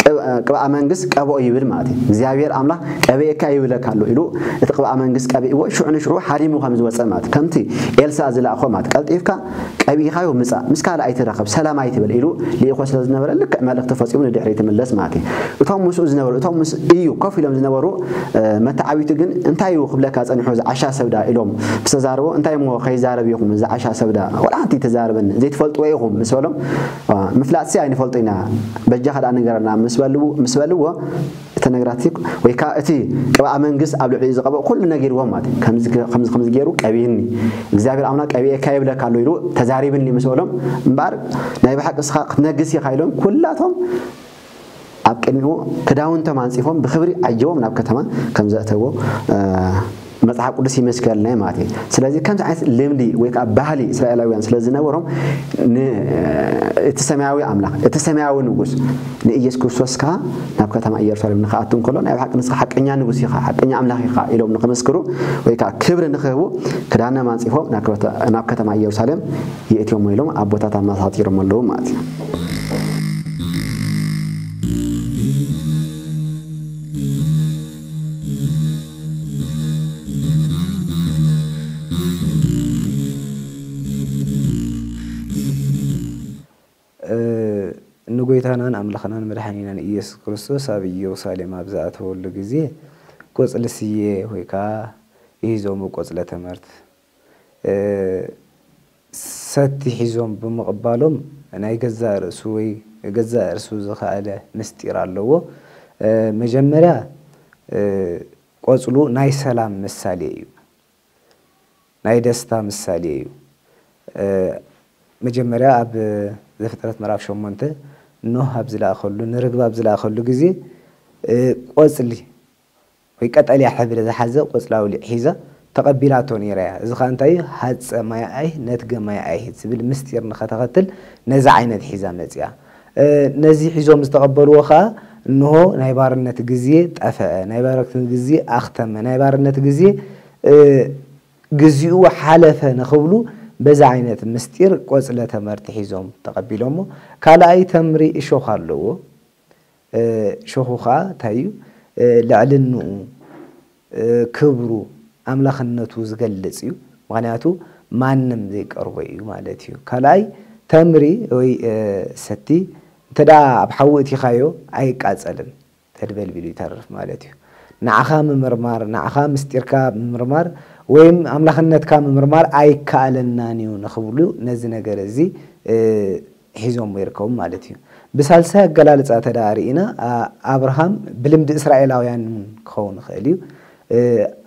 ቅብ-፣ ቅብኣ መንግስት ቀብኦ ይብል ማለት እዩ። እግዚኣብሔር ኣምላኽ ቀብኤካ ይብለካ ኣሎ ኢሉ እቲ ቅብኣ መንግስት ቀቢእዎ፣ ሽዑ ንሽዑ ሓዲሙ ከም ዝወፀ ማለት እዩ። ከምቲ ኤልሳ ዝለኣኾ ማለት፣ "ቀልጢፍካ ቀቢእካዮ ምጻእ፣ ምስ ካልእ ኣይትራኸብ፣ ሰላም ኣይትበል" ኢሉ ልኢኾ ስለ ዝነበረ፣ ልክዕ መልእኽቲ ፈጺሙ ንድሕሪት ይምለስ ማለት እዩ። እቶም ምስኡ ዝነበሩ፣ እቶም ምስ እዩ ኮፍ ኢሎም ዝነበሩ፣ እ፣ መተዓቢቱ ግን፣ "እንታይ እዩ ክብለካ ጸኒሑ እዚ ዓሻ ሰብዳ?" ኢሎም ምስ ተዛረቦ፣ "እንታይ እሞ ከይዛረብ ኢኹም እዚ ዓሻ ሰብዳ? ዋላ ሓንቲ ተዛረበኒ፣ ዘይትፈልጥዎ ኢኹም" ምስ በሎም፣ "ዋ፣ ምፍላጥሲ ኣይንፈልጦ ኢና፣ በጃኻ ደኣ ንገረና" ምስ በልዎ፣ ምስ በልዎ፣ እቲ ነገራት ወይ ከኣ እቲ ቅብኣ መንግስት ኣብ ልዕሊኡ ዝቐብኦ ኩሉ ነጊርዎም ማለት እዩ። "ከምዚ፣ ከምዚ፣ ከምዚ ገይሩ ቀቢእኒ፣ እግዚኣብሔር ኣምላኽ ቀቢኤካ ይብለካ ኣሎ" ኢሉ ተዛሪብኒ ምስ በሎም፣ እምበኣር ናይ ብሓቂ እስኻ ክትነግስ ኢኻ ኢሎም ኩላቶም ኣብ ቅድሚኡ ክዳውንቶም ኣንጺፎም ብኽብሪ ዓጀቦም ናብ ከተማ ከም ዘእተዎ፣ እ፣ መጽሓፍ ቅዱስ ይመስከረልና እዩ ማለት እዩ። ስለዚ ከምዚ ዓይነት ልምዲ ወይ ከኣ ባህሊ እስራኤላውያን ስለ ዝነበሮም፣ ን-፣ እቲ ሰማያዊ ኣምላኽ፣ እቲ ሰማያዊ ንጉስ ንኢየሱስ ክርስቶስ ከኣ ናብ ከተማ ኢየሩሳሌም ንኽኣቱ እንከሎ፣ "ናይ ብሓቂ ንስኻ ሓቀኛ ንጉስ ኢኻ፣ ሓቀኛ ኣምላኽ ኢኻ" ኢሎም ንኽመስክሩ ወይ ከኣ ክብሪ ንኽህቡ፣ ክዳኖም ኣንጺፎም ናብ ክብረተ-፣ ናብ ከተማ ኢየሩሳሌም የእትዮም ኢሎም ኣቦታት ኣመሳጢሮም ኣለዉ ማለት እዩ። እ፣ ንጎይታናን ኣምላኽናን መድሓኒናን ኢየሱስ ክርስቶስ ኣብ ኢየሩሳሌም ኣብ ዝኣተወሉ ግዜ፣ ቆጽሊ ስየ ወይ ከኣ ይሂዞም ቆጽለ ተመርት፣ እ፣ ሰቲ ሒዞም ብምቕባሎም፣ ናይ ገዛእ ርእሱ ወይ ገዛእ ርእሱ ዝኸኣለ ምስጢር ኣለዎ። እ፣ መጀመርያ፣ እ፣ ቆጽሉ ናይ ሰላም ምሳሌ እዩ። ናይ ደስታ ምሳሌ እዩ። እ፣ መጀመርያ ኣብ ዘፍጥረት ምዕራፍ ሸሞንተ ኖህ ኣብ ዝለኣኸሉ፣ ንርግብ ኣብ ዝለኣኸሉ ግዜ፣ እ፣ ቆጽሊ ወይ ቀጠልያ ሕብሪ ዝሓዘ ቆጽሊ ኣውሊዕ ሒዛ ተቐቢላቶ ነይራ እያ። እዚ ኸኣ እንታይ እዩ? ሃጸ ማይ ኣይህ፣ ነትገ ማይ ኣይህ ዝብል ምስጢር ንኸተኸትል ነዚ ዓይነት ሒዛ መጺኣ። እ፣ ነዚ ሒዞም ዝተቐበልዎ ኸኣ፣ እንሆ ናይ ባርነት ግዜ ጠፈአ፣ ናይ ባርነት ግዜ ኣኽተመ፣ ናይ ባርነት ግዜ፣ እ፣ ግዚኡ ሓለፈ ንኽብሉ በዚ ዓይነት ምስጢር ቆጽለ ተመርቲ ሒዞም ተቐቢሎሞ። ካልኣይ ተምሪ እሾኽ ኣለዎ። እ፣ እሾኹ ኸኣ እንታይ እዩ? እ፣ ልዕልንኡ፣ እ፣ ክብሩ፣ ኣምላኽነቱ ዝገልጽ እዩ። ምኽንያቱ ማንም ዘይቀርቦ እዩ ማለት እዩ። ካልኣይ ተምሪ ወይ፣ እ፣ ሰቲ እንተ ደኣ ኣብ ሓዊ እቲኻዮ ኣይቃጸልን። ተድበልቢሉ ይተርፍ ማለት እዩ። ንዓኻ ምምርማር፣ ንዓኻ ምስጢርካ ምምርማር ወይም ኣምላኽነትካ ምምርማር ኣይከኣለናን እዩ ንኽብሉ ነዚ ነገር እዚ፣ እ፣ ሒዞምዎ ይርከቡ ማለት እዩ። ብሳልሳይ ኣገላልጻ እንተ ደኣ ርኢና፣ ኣ-፣ ኣብርሃም ብልምዲ እስራኤላውያን እውን ክኸውን ይኽእል እዩ። እ፣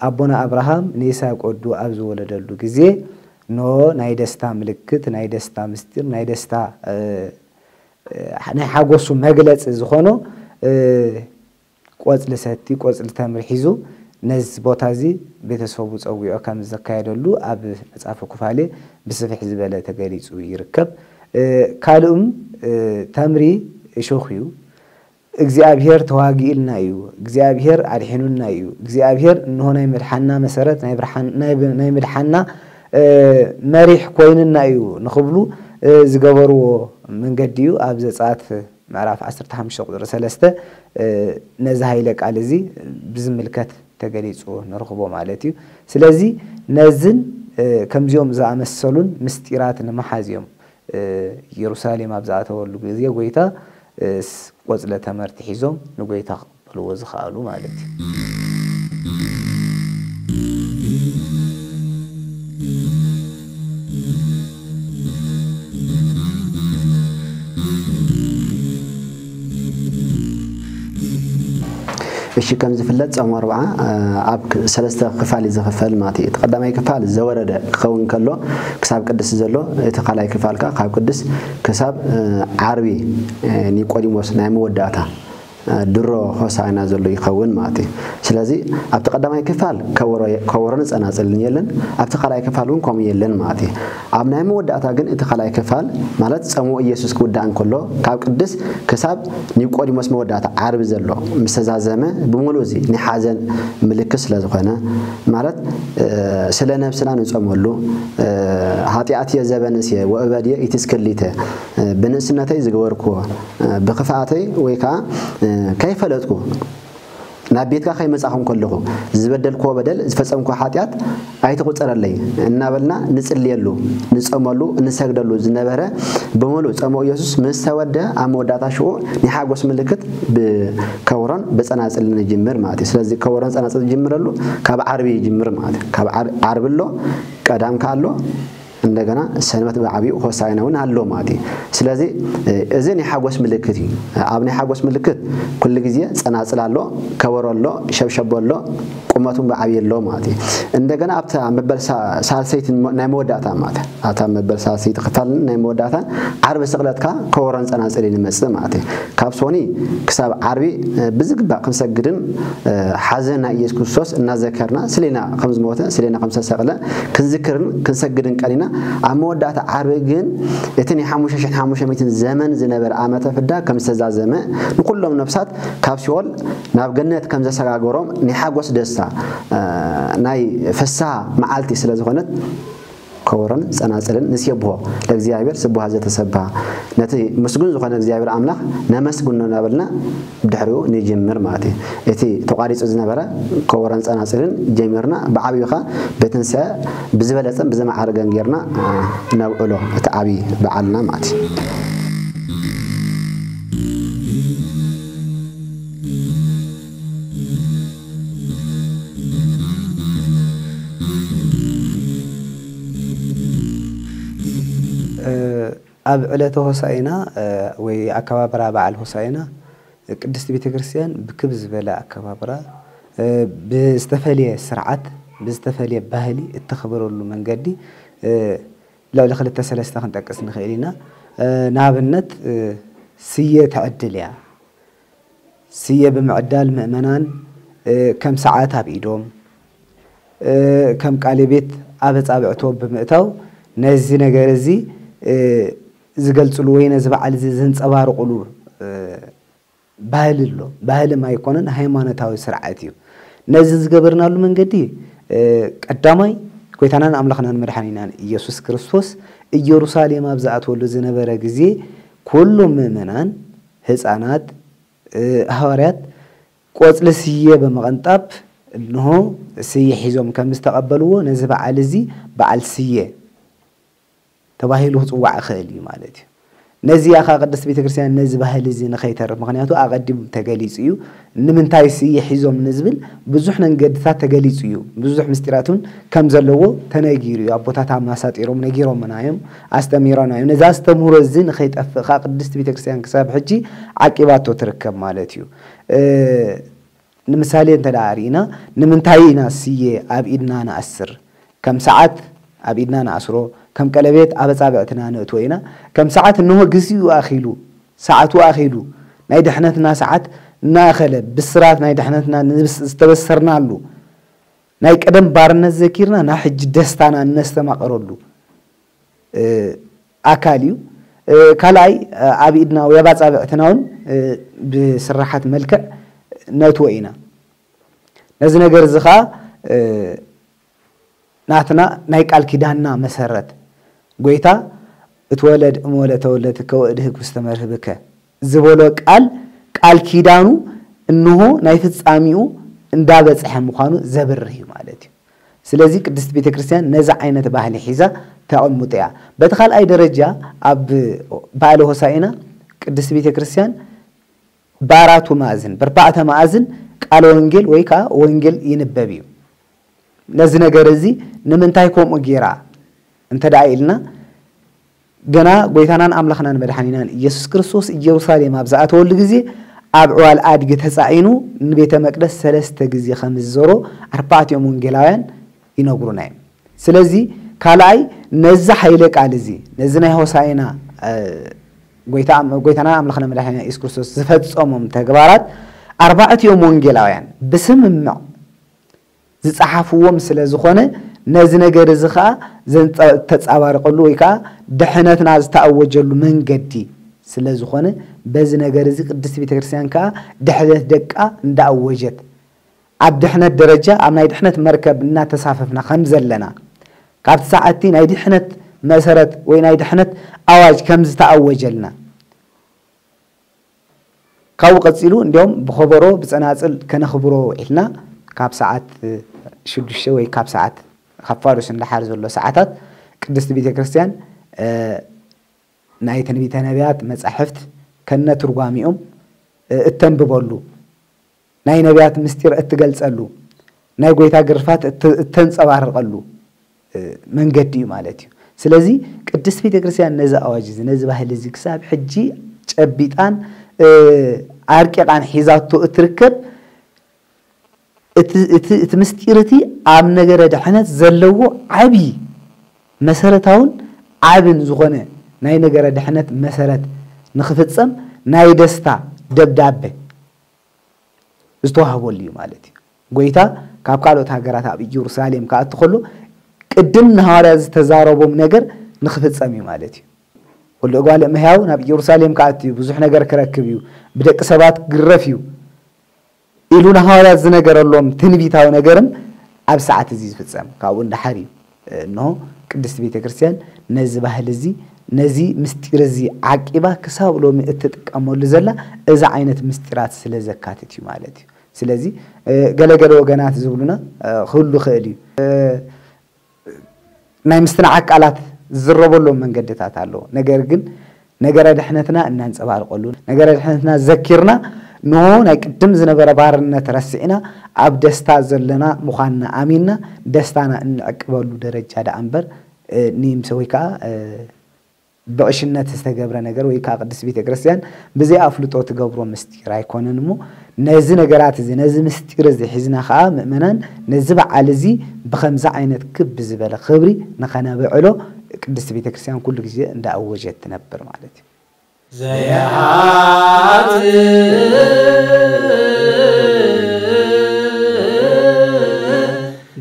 ኣቦና ኣብርሃም ንይስሐቅ ወዱ ኣብ ዝወለደሉ ግዜ፣ ኖ ናይ ደስታ ምልክት፣ ናይ ደስታ ምስጢር፣ ናይ ደስታ፣ እ፣ እ፣ ናይ ሓጎሱ መግለጺ ዝኾኖ፣ እ፣ ቆጽሊ ሰቲ፣ ቆጽሊ ተምሪ ሒዙ ነዚ ቦታ እዚ ቤተሰቡ ጸዊዑ ከም ዘካየደሉ ኣብ መጽሓፈ ኩፋሌ ብስፍሕ ዝበለ ተገሊጹ ይርከብ። እ፣ ካልእም፣ እ፣ ተምሪ እሾኽ እዩ። እግዚኣብሔር ተዋጊኡልና እዩ፣ እግዚኣብሔር ኣድሒኑና እዩ፣ እግዚኣብሔር እንሆ ናይ ምድሓና መሰረት፣ ናይ ብርሓን-፣ ናይ ብ-፣ ናይ ምድሓና፣ እ፣ መሪሕ ኮይኑና እዩ ንኽብሉ፣ እ፣ ዝገበርዎ መንገዲ እዩ። ኣብ ዘጸኣት ምዕራፍ ዓሰርተ ሓሙሽተ ቁጽሪ ሰለስተ፣ እ፣ ነዚ ሃይለ ቃል እዚ ብዝምልከት ተገሊጹ ንረኽቦ ማለት እዩ። ስለዚ ነዝን፣ እ፣ ከምዚኦም ዝኣመሰሉን ምስጢራት ንምሓዝ እዮም፣ እ፣ ኢየሩሳሌም ኣብ ዝኣተወሉ ግዜ ጎይታ፣ እ፣ ስ-፣ ቆጽለ ተመርቲ ሒዞም ንጎይታ ክቕበልዎ ዝኸኣሉ ማለት እዩ። እሺ፣ ከም ዝፍለጥ ጾም ኣርብዓ ኣብ ሰለስተ ክፋል እዩ ዝኽፈል ማለት እዩ። እቲ ቀዳማይ ክፋል ዘወረደ ክኸውን ከሎ ክሳብ ቅድስ ዘሎ፣ እቲ ካልኣይ ክፋል ከኣ ካብ ቅድስ ክሳብ ዓርቢ ኒቆዲሞስ ናይ መወዳእታ ድሮ ሆሳዕና ዘሎ ይኸውን ማለት እዩ። ስለዚ ኣብቲ ቀዳማይ ክፋል ከበሮን ጸናጽልን የለን፣ ኣብቲ ካልኣይ ክፋል እውን ከምኡ የለን ማለት እዩ። ኣብ ናይ መወዳእታ ግን እቲ ካልኣይ ክፋል ማለት ጸምኡ ኢየሱስ ክውዳእ እንከሎ ካብ ቅድስ ክሳብ ኒቆዲሞስ መወዳእታ ዓርቢ ዘሎ ምስ ተዛዘመ ብምሉእ እዚ ናይ ሓዘን ምልክት ስለ ዝኾነ ማለት ስለ ነብስና ንጸመሉ፣ ኃጢአትየ ዘበንስየ ወእበድየ ኢትስክሊተ፣ ብንእስነተይ ዝገበርክዎ ብክፍኣተይ ወይ ከዓ ከይፈለጥኩ ናብ ቤትካ ከይመጻኹ እንከለኹ ዝበደልክዎ በደል ዝፈጸምክዎ ኃጢአት ኣይትቑጸረለይ እናበልና ንጽልየሉ፣ ንጸመሉ፣ እንሰግደሉ ዝነበረ ብምሉእ ጸምኡ ኢየሱስ ምስ ተወደ ኣብ መወዳእታ ሽዑ ናይ ሓጎስ ምልክት ብከበሮን ብጸናጽልን ንጅምር ማለት እዩ። ስለዚ ከበሮን ጸናጽልን ዝጅምረሉ ካብ ዓርቢ ይጅምር ማለት እዩ። ካብ ዓር- ዓርቢ ኣሎ፣ ቀዳም ከኣ ኣሎ፣ እንደገና ሰንበት ብዓቢኡ ሆሳዕና እውን ኣሎ ማለት እዩ። ስለዚ እዚ ናይ ሓጎስ ምልክት እዩ። ኣብ ናይ ሓጎስ ምልክት ኩሉ ግዜ ጸናጽል ኣሎ፣ ከበሮ ኣሎ፣ ሸብሸቦ ኣሎ፣ ቁመቱን ብዓብዩ ኣሎ ማለት እዩ። እንደገና ኣብታ መበል ሳ- ሳልሰይቲ ናይ መወዳእታ ማለት እዩ። ኣብታ መበል ሳልሰይቲ ክፋል ናይ መወዳእታ ዓርቢ ስቕለትካ ከበሮን ጸናጽልን ይመጽእ ማለት እዩ። ካብ ሶኒ ክሳብ ዓርቢ ብዝግባእ ክንሰግድን ሓዘን ናይ ኢየሱስ ክርስቶስ እናዘከርና ስሌና ከም ዝሞተ ስሌና ከም ዝተሰቕለ ክንዝክርን ክንሰግድን ቀኒና፣ ኣብ መወዳእታ ዓርቢ ግን እቲ ናይ ሓሙሽተ ሽሕን ሓሙሽተ ሚእትን ዘመን ዝነበረ ዓመተ ፍዳ ከም ዝተዛዘመ ንኩሎም ነፍሳት ካብ ሲኦል ናብ ገነት ከም ዘሰጋገሮም ናይ ሓጎስ ደስታ ናይ ፍስሃ መዓልቲ ስለ ዝኾነት ከበሮን ጸናጽልን ንሴብሖ ለእግዚኣብሔር ስቡሃ ዘተሰብሃ፣ ነቲ ምስጉን ዝኾነ እግዚኣብሔር ኣምላኽ ነመስግኖ እናበልና ብድሕሪኡ ንጅምር ማለት እዩ። እቲ ተቋሪጹ ዝነበረ ከበሮን ጸናጽልን ጀሚርና ብዓብዩ ኸኣ ብትንሳኤ ብዝበለጸን ብዝመዓረገን ጌርና ነብዕሎ እቲ ዓብዪ በዓልና ማለት እዩ። ኣብ ዕለተ ሆሳኢና ወይ ኣከባብራ በዓል ሆሳኢና ቅድስት ቤተ ክርስቲያን ብክብ ዝበለ ኣከባብራ ብዝተፈለየ ስርዓት ብዝተፈለየ ባህሊ እተኽብረሉ መንገዲ ልዕሊ ክልተ ሰለስተ ክንጠቅስ ንኽእል ኢና። ንኣብነት ስየ ትዕድል እያ። ስየ ብምዕዳል ምእመናን ከም ሰዓት ኣብ ኢዶም ከም ቃለ ቤት ኣብ ኣጻብዕቶም ብምእታው ነዚ ነገር እዚ ዝገልጽሉ ወይ ነዚ በዓል እዚ ዘንጸባርቑሉ ባህሊ ኣሎ። ባህሊ ኣይኮነን፣ ሃይማኖታዊ ስርዓት እዩ። ነዚ ዝገበርናሉ መንገዲ ቀዳማይ ጎይታናን ኣምላኽናን መድሓኒናን ኢየሱስ ክርስቶስ ኢየሩሳሌም ኣብ ዝኣትወሉ ዝነበረ ግዜ ኩሎም ምእመናን ህፃናት ሃዋርያት ቆጽሊ ስየ ብምቕንጣብ እንሆ ስየ ሒዞም ከም ዝተቐበልዎ ነዚ በዓል እዚ በዓል ስየ ተባሂሉ ክጽዋዕ ይኽእል እዩ ማለት እዩ። ነዚኣ ኸዓ ቅድስት ቤተ ክርስቲያን ነዚ ባህሊ እዚ ንኸይተርፍ፣ ምኽንያቱ ኣቐዲሙ ተገሊጹ እዩ። ንምንታይ ስየ ሒዞም ንዝብል ብዙሕ መንገድታት ተገሊጹ እዩ። ብዙሕ ምስጢራት እውን ከም ዘለዎ ተነጊሩ እዩ። ኣቦታት ኣማሳጢሮም ነጊሮምና እዮም፣ ኣስተሚሮና እዮም። ነዚ ኣስተምህሮ እዚ ንኸይጠፍእ ኸዓ ቅድስት ቤተ ክርስቲያን ክሳብ ሕጂ ዓቂባቶ ትርከብ ማለት እዩ። ንምሳሌ እንተ ደኣ ርኢና ንምንታይ ኢና ስየ ኣብ ኢድና ንኣስር? ከም ሰዓት ኣብ ኢድና ንኣስሮ፣ ከም ቀለቤት ኣብ ኣጻብዕትና ነእትዎ ኢና። ከም ሰዓት እንሆ ግዚኡ ኣኺሉ፣ ሰዓቱ ኣኺሉ፣ ናይ ድሕነትና ሰዓት እናኣኸለ፣ ብስራት ናይ ድሕነትና ዝተበሰርናሉ፣ ናይ ቀደም ባርነት ዘኪርና ናብ ሕጂ ደስታና እነስተማቕረሉ ኣካል እዩ። ካልኣይ ኣብ ኢድና ወይ ኣብ ኣጻብዕትና እውን ብስራሓት መልክዕ ነእትዎ ኢና። ነዚ ነገር እዚ ኸዓ ናትና ናይ ቃል ኪዳንና መሰረት ጎይታ እትወለድ እምወለ ተወለትከ ወእድህግ ውስተ መርህብከ ዝበሎ ቃል ቃል ኪዳኑ እንሆ ናይ ፍጻሜኡ እንዳበጽሐ ምዃኑ ዘብርህ እዩ ማለት እዩ። ስለዚ ቅድስት ቤተ ክርስቲያን ነዚ ዓይነት ባህሊ ሒዛ ተቐምጦ እያ። በቲ ካልኣይ ደረጃ ኣብ በዓለ ሆሳኢና ቅድስት ቤተ ክርስቲያን ብኣራቱ ማእዝን ብርባዕተ ማእዝን ቃለ ወንጌል ወይ ከዓ ወንጌል ይንበብ እዩ። ነዚ ነገር እዚ ንምንታይ ከምኡ ገይራ እንተ ደኣ ኢልና ገና ጎይታናን ኣምላኽናን መድሓኒናን ኢየሱስ ክርስቶስ ኢየሩሳሌም ኣብ ዝኣተወሉ ግዜ ኣብ ዕዋል ኣድጊ ተጻዒኑ ንቤተ መቅደስ ሰለስተ ግዜ ከም ዝዞሮ ኣርባዕቲኦም ወንጌላውያን ይነግሩና እዮም። ስለዚ ካልኣይ ነዚ ሓይለ ቃል እዚ፣ ነዚ ናይ ሆሳዕና፣ እ፣ ጎይታ ኣም-፣ ጎይታና ኣምላኽና መድሓኒና የሱስ ክርስቶስ ዝፈጸሞም ተግባራት ኣርባዕቲኦም ወንጌላውያን ብስምምዕ ዝጸሓፍዎም ስለ ዝኾነ፣ ነዚ ነገር እዚ ኸኣ ዘንጸ-፣ ተጻባርቐሉ ወይ ከኣ ድሕነትና ዝተኣወጀሉ መንገዲ ስለ ዝኾነ፣ በዚ ነገር እዚ ቅድስት ቤተ ክርስቲያን ከኣ ድሕነት ደቃ እንዳኣወጀት፣ ኣብ ድሕነት ደረጃ፣ ኣብ ናይ ድሕነት መርከብ እናተሳፈፍና ከም ዘለና፣ ካብቲ ሰዓቲ ናይ ድሕነት መሰረት ወይ ናይ ድሕነት ኣዋጅ ከም ዝተኣወጀልና፣ ካብኡ ቀጺሉ እንዲያውም ብኸበሮ ብጸናጽል ከነኽብሮ ውዒልና፣ ካብ ሰዓት ሽዱሽተ ወይ ካብ ሰዓት፣ ካብ ፋዱስ ንደሓር ዘሎ ሰዓታት ቅድስቲ ቤተ ክርስቲያን፣ እ፣ ናይ ትንቢተ ነቢያት መጻሕፍት ከነ ትርጓሚኦም፣ እ፣ እተንብበሉ፣ ናይ ነቢያት ምስጢር እትገልጸሉ፣ ናይ ጎይታ ግርፋት እት-፣ እተንጸባርቐሉ፣ እ፣ መንገዲ እዩ ማለት እዩ። ስለዚ ቅድስት ቤተ ክርስቲያን ነዚ ኣዋጅ እዚ፣ ነዚ ባህሊ እዚ ክሳብ ሕጂ ጨቢጣን፣ እ፣ ኣርቂቓን ሒዛቶ እትርከብ፣ እቲ፣ እቲ፣ እቲ ምስጢር እቲ ኣብ ነገረ ድሕነት ዘለዎ ዓቢ መሰረታውን ዓብን ዝኾነ ናይ ነገረ ድሕነት መሰረት ንኽፍጸም ናይ ደስታ ደብዳበ ዝተዋህበሉ እዩ ማለት እዩ። ጎይታ ካብ ካልኦት ሃገራት ኣብ ኢየሩሳሌም ክኣቱ ከሎ ቅድም ንሃዋርያት ዝተዛረቦም ነገር ንኽፍጸም እዩ ማለት እዩ። "ወልደ እጓለ እመሕያው ናብ ኢየሩሳሌም ክኣቱ እዩ፣ ብዙሕ ነገር ክረክብ እዩ፣ ብደቂ ሰባት ክግረፍ እዩ" ኢሉ ንሃዋርያት ዝነገረሎም ትንቢታዊ ነገርም ኣብ ሰዓት እዚ ዝፍጸም። ካብኡ ንደሓር እዩ፣ እንሆ፣ ቅድስቲ ቤተ ክርስቲያን ነዚ ባህሊ እዚ፣ ነዚ ምስጢር እዚ ዓቂባ ክሳብ ሎሚ እትጥቀመሉ ዘላ፣ እዚ ዓይነት ምስጢራት ስለ ዘካትት እዩ ማለት እዩ። ስለዚ፣ እ፣ ገለገለ ወገናት ዝብሉና፣ እ፣ ክህሉ ይኽእል እዩ። እ፣ ናይ ምስትንዓቅ ቃላት ዝዝረበሎም መንገድታት ኣለዉ። ነገር ግን ነገረ ድሕነትና እናንጸባርቀሉ፣ ነገረ ድሕነትና ዘኪርና፣ ንሆ ናይ ቅድም ዝነበረ ባርነት ረሲዕና፣ ኣብ ደስታ ዘለና ምዃንና ኣሚንና፣ ደስታና እንዕቅበሉ ደረጃ ደኣ እምበር፣ እ፣ ንይምሰ ወይ ከኣ፣ እ፣ ብዕሽነት ዝተገብረ ነገር ወይ ከኣ ቅድስት ቤተ ክርስቲያን ብዘይ ኣፍልጦ ትገብሮ ምስጢር ኣይኮነን እሞ፣ ነዚ ነገራት እዚ፣ ነዚ ምስጢር እዚ ሒዝና ከኣ ምእመናን ነዚ በዓል እዚ ብኸምዚ ዓይነት ክብ ዝበለ ክብሪ ንኸነብዕሎ ቅድስት ቤተ ክርስቲያን ኩሉ ግዜ እንዳኣወጀት ትነብር ማለት እዩ። ዘይሓጥእ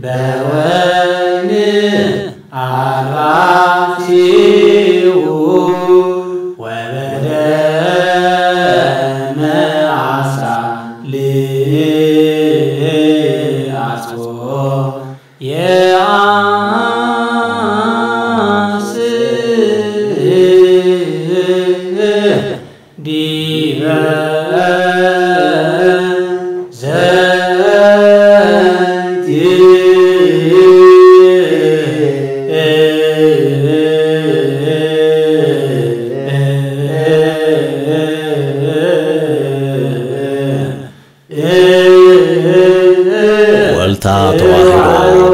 በወይኒ ኣልባሲኡ ወበደመ ኣሳልያጽቦ የአስእ ዲበ ዘንቲ። ወልታ ተዋህዶ